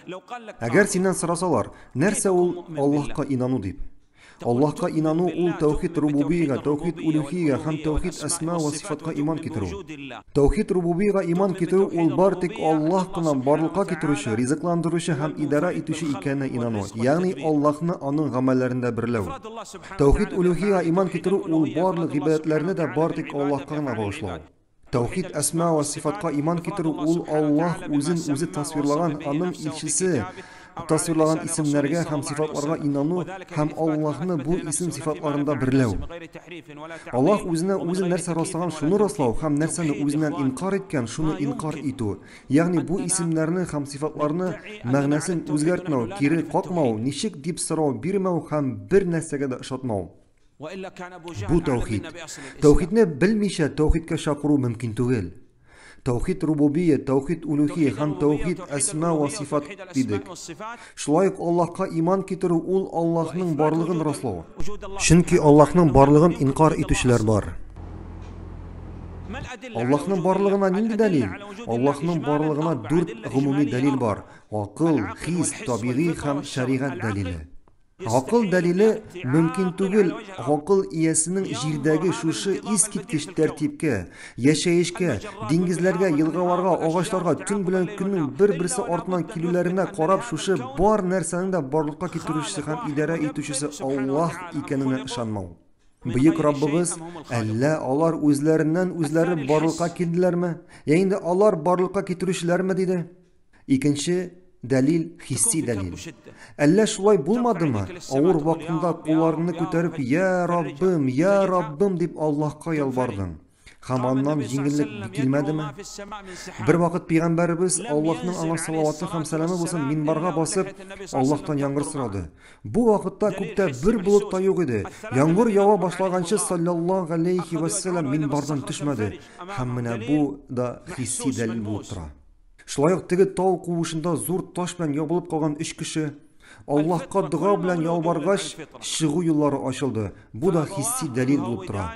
Әгәр синнән сорасалар, нәрсә ул Аллаһка инану дип? Аллаһка инану ул тәүхид рубубиягә, тәүхид улюхиягә һәм тәүхид әсма вә сифатка иман китерү. Тәүхид рубубиягә иман китерү ул бар тик Аллаһ кына барлыкка китерүче, ризыкландыручы һәм идарә итүче икәненә инану, ягъни Аллаһны аның гамәлләрендә берләү. Тәүхид улюхиягә иман китерү ул барлык гыйбадәтләрне дә бар тик Аллаһка гына багышлау. Тәүхид әсма вә сыйфатка иман китерү ул Аллаһ үзен үзе тасвирлаган, аның илчесе тасвирлаган исемнәргә һәм сыйфатларга инану һәм Аллаһны бу исем-сыйфатларында берләү. Аллаһ үзенә үзе нәрсә раслаган шуны раслау һәм нәрсәне үзеннән инкарь иткән шуны инкарь итү, ягъни бу исемнәрне һәм сыйфатларны мәгънәсен үзгәртмәү, кире какмау, ничек дип сорау бирмәү һәм бер нәрсәгә дә ошатмау. Бу тәүхид. Тәүхидне белмичә тәүхидкә чакыру мөмкин түгел. Тәүхид рубубия, тәүхид улюхия һәм тәүхид әсма ва сифат дидек. Шулай ук Аллаһка иман китерү ул Аллаһның барлыгын раслау. Чөнки Аллаһның барлыгын инкар итүчеләр бар. Аллаһның барлыгына нинди дәлил? Аллаһның барлыгына дүрт гомуми дәлил бар: акыл, хис, табигый һәм шәригать дәлиле. Гакыл дәлиле мөмкин түгел, гакыл иясенең җирдәге шушы искиткеч тәртипкә, яшәешкә, диңгезләргә, елгаларга, агачларга төн белән көннең бер-берсе артыннан килүләренә карап шушы бар нәрсәнең дә барлыкка китерүчесе һәм идарә итүчесе Аллаһ икәненә ышанмау. Бөек Раббыбыз, әллә алар үзләреннән үзләре барлыкка килделәрме, я инде алар барлыкка китерүчеләрме, диде. Икенче дәлил хисси дәлил. Әллә шулай булмадымы? Авыр вакытында кулларыңны күтәреп, "Я Раббым, я Раббым" дип Аллаһка ялвардың. Һәм аннан җиңеллек килмәдеме? Бер вакыт пәйгамбәребез Аллаһның аңа салаваты һәм сәламе булсын минбарга басып, Аллаһтан яңгыр сорады. Бу вакытта күктә бер болыт та юк иде. Яңгыр ява башлаганчы саллаллаһу галәйһи вәссәлам минбардан төшмәде. Һәм менә бу да хисси дәлил булып тора. Шулай ук теге тау куышында зур таш белән ябылып калган өч кеше Аллаһка дога белән ялваргач, чыгу юллары ачылды. Бу да хисси дәлил булып тора.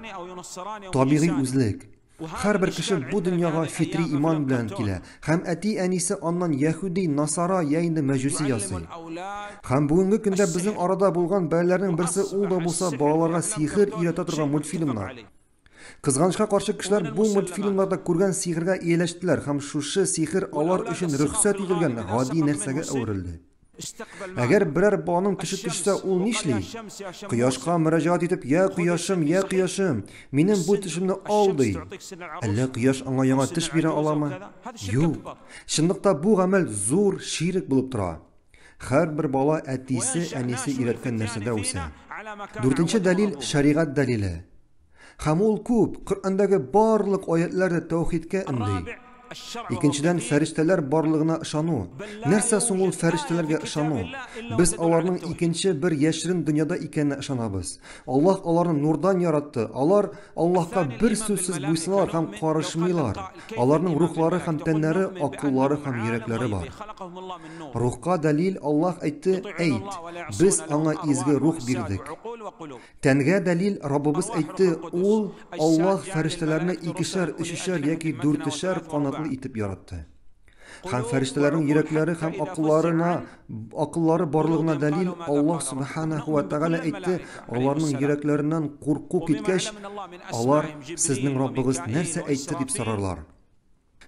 Табигый үзлек. Һәрбер кеше бу дөньяга фитри иман белән килә һәм әти-әнисе аннан яһүди, насара я инде мәҗүси ясый. Һәм бүгенге көндә безнең арада булган бәлаләрнең берсе ул да булса балаларга сихер өйрәтә торган мультфильмнар. Кызганычка каршы, кешеләр бу мультфильмнарда күргән сихергә ияләштеләр һәм шушы сихер алар өчен рөхсәт ителгән гади нәрсәгә әверелде. Әгәр берәр баланың төше төшсә, ул нишли? Кояшка мөрәҗәгать итеп, "Я кояшым, я кояшым, минем бу төшемне ал", ди. Әллә кояш аңа яңа төш бирә аламы? Юк. Чынлыкта бу гамәл зур ширек булып тора. Һәрбер бала әтисе, әнисе өйрәткән нәрсәдә үсә. Дүртенче дәлил шәригать дәлиле. Һәм ул күп, Коръәндәге барлык аятьләр дә тәүхидкә өнди. Икенчедән, фәрештәләр барлыгына ышану. Нәрсә соң ул фәрештәләргә ышану? Без аларның икенче бер яшерен дөньяда икәненә ышанабыз. Аллаһ аларны нурдан яратты. Алар Аллаһка бер сүзсез буйсыналар һәм карышмыйлар. Аларның рухлары һәм тәннәре, акыллары һәм йөрәкләре бар. Рухка дәлил Аллаһ әйтте, Әйт, без аңа изге рух бирдек. Тәнгә дәлил Раббыбыз әйтте, Ул, Аллаһ, фәрештәләрне икешәр, өчешәр яки дүртешәр канатлы итеп яратты. Һәм фәрештәләрнең йөрәкләре һәм акылларына акыллары барлыгына дәлил Аллаһ субханаһу ва тәгалә әйтте, аларның йөрәкләреннән курку киткәч, алар сезнең Раббыгыз нәрсә әйтте дип сорарлар.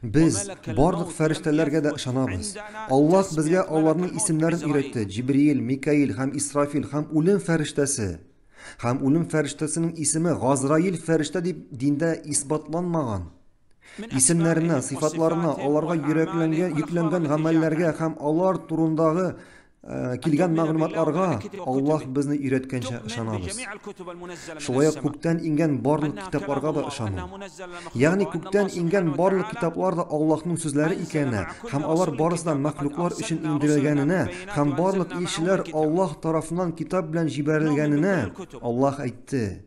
Без барлык фәрештәләргә дә ышанабыз. Аллаһ безгә аларның исемнәрен өйрәтте, Җибриил, Микаил һәм Исрафил һәм үлем фәрештәсе. Һәм үлем фәрештәсенең исеме Газраил фәрештә дип диндә исбатланмаган. Исемнәренә, сыйфатларына, аларга йөрәкләнгән, йөкләнгән гамәлләргә һәм алар турындагы килгән мәгълүматларга Аллаһ безне өйрәткәнчә ышанабыз. Шулай ук күктән иңгән барлык китапларга да ышану. Ягъни күктән иңгән барлык китаплар да Аллаһның сүзләре икәненә һәм алар барысы да мәхлуклар өчен иңдерелгәненә һәм барлык илчеләр Аллаһ тарафыннан китап белән җибәрелгәненә Аллаһ әйтте.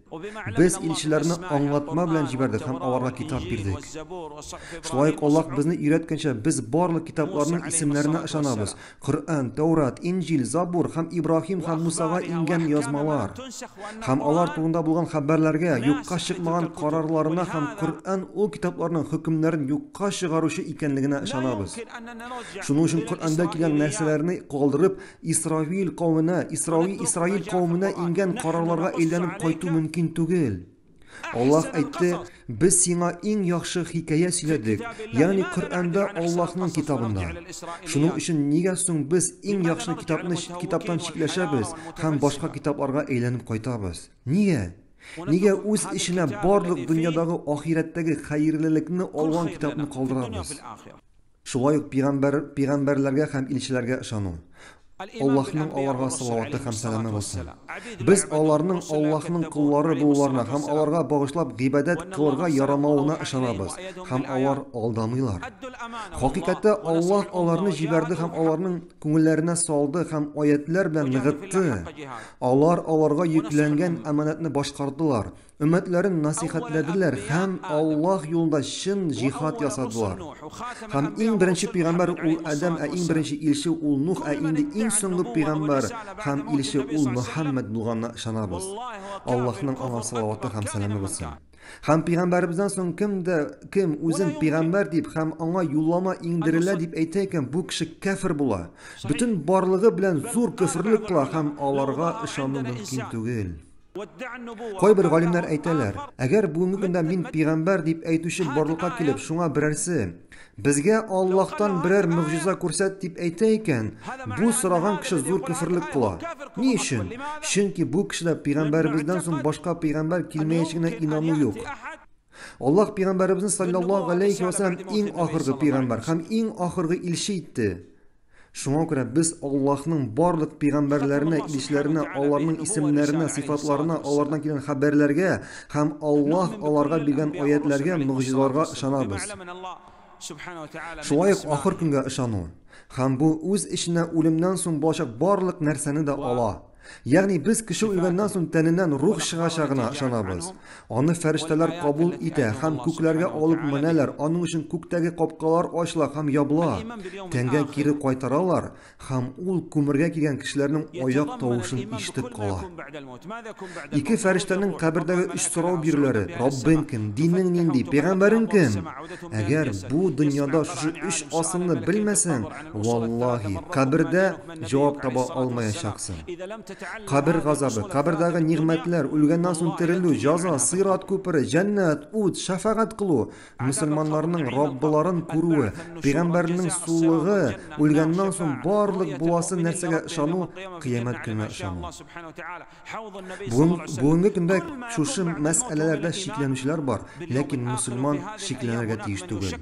Без илчеләрне аңлатма белән җибәрдек һәм аларга китап бирдек. Шулай ук Аллаһ безне өйрәткәнчә, без барлык китапларның исемнәренә ышанабыз, Коръән, Тәүрат, Инҗил, Забур һәм Ибраһим һәм Мусага иңгән язмалар. Һәм алар турында булган хәбәрләргә, юкка чыкмаган карарларына һәм Коръән ул китапларның хөкемнәрен юкка чыгаручы икәнлегенә ышанабыз. Шуның өчен Коръәндә килгән нәрсәләрне калдырып, Исравил кавеменә, Исраи, Исраил кавеменә иңгән карарларга әйләнеп кайту мөмкин түгел. Аллаһ әйтте, Без сиңа иң яхшы хикәя сөйләдек, ягъни Коръәндә Аллаһның китабында. Шуның өчен нигә соң без иң яхшы китапны китаптан читләшәбез һәм башка китапларга әйләнеп кайтабыз? Нигә? Нигә үз эченә барлык дөньядагы ахирәттәге хәерлелекне алган китапны калдырабыз? Шулай ук пигамбәр, пигамбәрләргә һәм илчеләргә ышану. Аллаһның аларга салаваты һәм сәламе булсын. Без аларның Аллаһның коллары булуларына һәм аларга багышлап гыйбадәт кылырга ярамавына ышанабыз һәм алар алдамыйлар. Хакыйкатьтә Аллаһ аларны җибәрде һәм аларның күңелләренә салды һәм аятьләр белән ныгытты. Алар аларга йөкләнгән әманәтне башкардылар. Өммәтләрен насыйхәтләделәр һәм Аллаһ юлында чын җихад ясадылар. Һәм иң беренче пәйгамбәр ул Адәм, ә иң беренче илче ул Нух, ә инде иң соңгы пәйгамбәр һәм илче ул Мөхәммәд булганына ышанабыз. Аллаһның аңа салаваты һәм сәламе булсын. Һәм пәйгамбәребездән соң кем дә кем үзен пәйгамбәр дип һәм аңа юллама иңдерелә дип әйтә икән, бу кеше кәфер була. Бөтен барлыгы белән зур көферлек кыла һәм аларга ышану мөмкин түгел. Кайбер галимнәр әйтәләр, әгәр бүгенге көндә мин пигамбәр дип әйтүче барлыкка килеп, шуңа берәрсе, безгә Аллаһтан берәр могҗиза күрсәт дип әйтә икән, бу сораган кеше зур көферлек кыла. Ни өчен? Чөнки бу кешедә пигамбәребездән соң башка пигамбәр килмәячәгенә инану юк. Аллаһ пигамбәребезне саллаллаһу галәйһи ва сәлләм иң ахыргы пигамбәр һәм иң ахыргы илче итте. Шуңа күрә без Аллаһның барлык пәйгамбәрләренә, илчеләренә, аларның исемнәренә, сыйфатларына, алардан килгән хәбәрләргә һәм Аллаһ аларга биргән аятьләргә, могҗизаларга ышанабыз. Шулай ук ахыр көнгә ышану. Һәм бу үз эченә үлемнән соң булачак барлык нәрсәне дә ала. Ягъни без кеше үлгәннән соң тәненнән рух чыгачагына ышанабыз. Аны фәрештәләр кабул итә һәм күкләргә алып менәләр, аның өчен күктәге капкалар ачыла һәм ябыла. Тәнгә кире кайтаралар һәм ул күмергә килгән кешеләрнең аяк тавышын ишетеп кала. Ике фәрештәнең кабердәге өч сорау бирүләре, Раббың кем, динең нинди, пәйгамбәрең кем? Әгәр бу дөньяда шушы өч асылны белмәсәң, валлаһи, кабердә җавап таба алмаячаксың. Кабер газабы, кабердәге нигъмәтләр, үлгәннән соң терелү, җаза, сират күпере, җәннәт, ут, шәфәгать кылу, мөселманнарның Раббыларын күрүе, пәйгамбәрнең сулыгы, үлгәннән соң барлык буласы нәрсәгә ышану, кыямәт көненә ышану. Бүген, бүгенге көндә шушы мәсьәләләрдә шикләнүчеләр бар, ләкин мөселман шикләнергә тиеш түгел.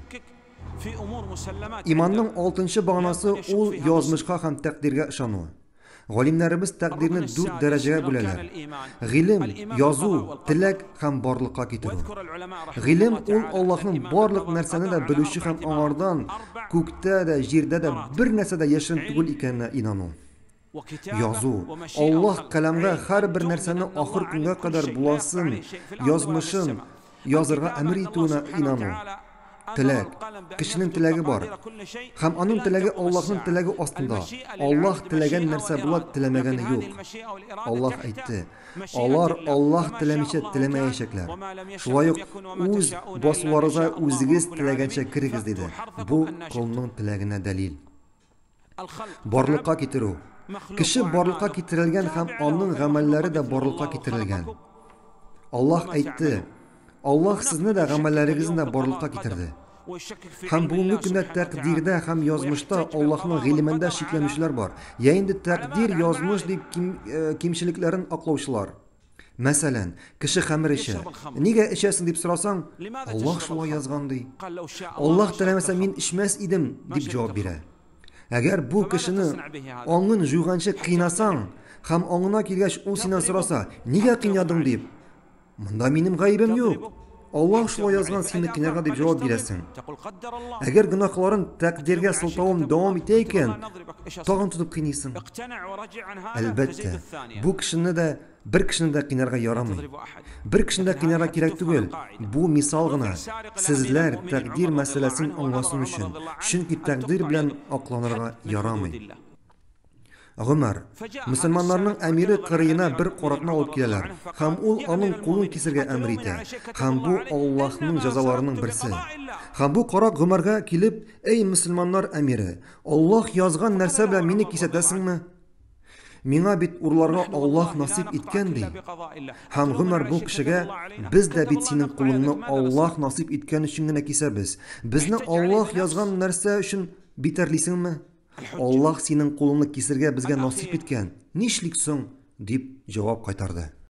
Иманның алтынчы баганасы ул язмышка һәм тәкъдиргә ышану. Галимнәребез тәкъдирне дүрт дәрәҗәгә бүләләр. Гыйлем, язу, теләк һәм барлыкка китерү. Гыйлем ул Аллаһның барлык нәрсәне дә белүче һәм аңардан күктә дә, җирдә дә бер нәрсә дә яшерен түгел икәненә инану. Язу. Аллаһ каләмгә һәрбер нәрсәне ахыр көнгә кадәр буласын, язмышын язырга әмер итүенә инану. Теләк. Кешенең теләге бар. Һәм аның теләге Аллаһның теләге астында. Аллаһ теләгән нәрсә була, теләмәгәне юк. Аллаһ әйтте, Алар Аллаһ теләмичә теләмәячәкләр. Шулай ук үз басуларыгызга үзегез теләгәнчә керегез, диде. Бу колның теләгенә дәлил. Барлыкка китерү. Кеше барлыкка китерелгән һәм аның гамәлләре дә барлыкка китерелгән. Аллаһ әйтте, Аллаһ сезне дә гамәлләрегезне дә барлыкка китерде. Һәм бүгенге көндә тәкъдирдә һәм язмышта Аллаһның гыйлемендә шикләнүчеләр бар. Я инде тәкъдир, язмыш дип ким, э, кимчелекләрен аклаучылар. Мәсәлән, кеше хәмер эчә. Нигә эчәсең дип сорасаң, Аллаһ шулай язган ди. Аллаһ теләмәсә мин эчмәс идем дип җавап бирә. Әгәр бу кешене аңын җуйганчы кыйнасаң һәм аңына килгәч ул синнән сораса, нигә кыйнадың дип, монда минем гаебем юк. Аллаһ шулай язган сине кыйнарга дип җавап бирәсең. Әгәр гөнаһларын тәкъдиргә сылтавын дәвам итә икән, Тагын тотып кыйныйсың. Әлбәттә, бу кешене дә, бер кешене дә кыйнарга ярамый. Бер кешене дә кыйнарга кирәк түгел. Бу мисал гына. Сезләр тәкъдир мәсьәләсен аңласын өчен. Чөнки тәкъдир белән акланырга ярамый. Гомәр, мөселманнарның әмире кырыена бер каракны алып киләләр, һәм ул аның кулын кисергә әмер итә. Һәм бу Аллаһның җәзаларының берсе. Һәм бу карак Гомәргә килеп, Әй мөселманнар әмире, Аллаһ язган нәрсә белән мине кисәтәсеңме? Миңа бит урларга Аллаһ насыйп иткән, ди. Һәм Гомәр бу кешегә, Без дә бит синең кулыңны Аллаһ насыйп иткән өчен генә кисәбез. Безне Аллаһ язган нәрсә өчен битәрлисеңме? Аллаһ синең кулыңны кисергә безгә насыйп иткән, нишлик соң? дип җавап кайтарды.